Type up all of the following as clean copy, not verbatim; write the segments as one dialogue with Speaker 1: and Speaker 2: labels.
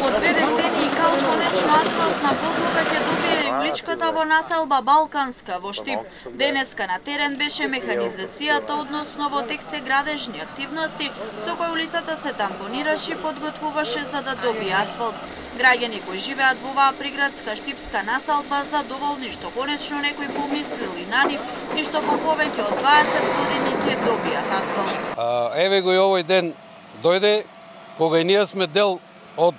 Speaker 1: Од 2 децении кал конечно асфалтна подлога ќе добие и уличката во населба Балканска во Штип. Денеска на терен беше механизацијата, односно во тек се градежни активности, со кои улицата се тампонираше и подготвуваше за да добие асфалт. Граѓани кои живеат во оваа приградска штипска населба задоволни што конечно некои помислили на нив и што по повеќе од 20 години ќе добијат асфалт.
Speaker 2: Еве го и овој ден дојде кога и ние сме дел од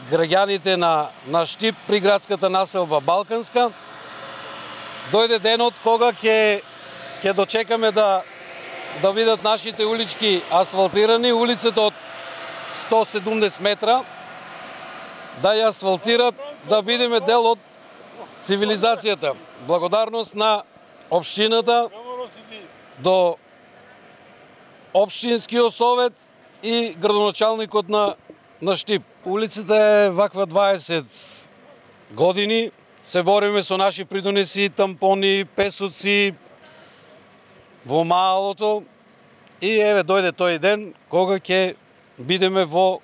Speaker 2: граѓаните на Штип, приградската населба Балканска. Дојде денот кога ќе дочекаме да видат нашите улички асфалтирани, улицата од 170 метра, да ја асфалтират, да бидеме дел од цивилизацијата. Благодарност на општината, до општинскиот совет и градоначалникот на Штип. Улицата е ваква 20 години, се бориме со наши придонеси, тампони, песоци во малото и еве дојде тој ден кога ќе бидеме во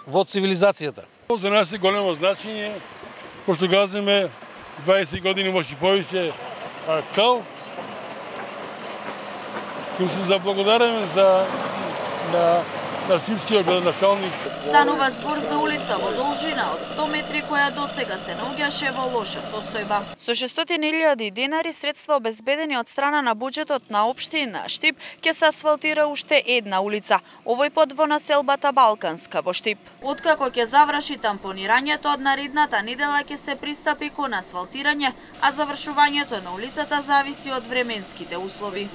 Speaker 2: цивилизацијата.
Speaker 3: За нас е големо значење, пошто газиме 20 години, може и повеќе кал. Ќе се заблагодариме на штипскиот градоначалник.
Speaker 1: Станува збор за улица во должина од 100 метри која досега се наоѓаше во лоша состојба. Со 600.000 денари средства обезбедени од страна на буџетот на општина Штип ќе се асфалтира уште една улица, овој пат во населбата Балканска во Штип. Откако ќе заврши тампонирањето, од наредната недела ќе се пристапи кон асфалтирање, а завршувањето на улицата зависи од временските услови.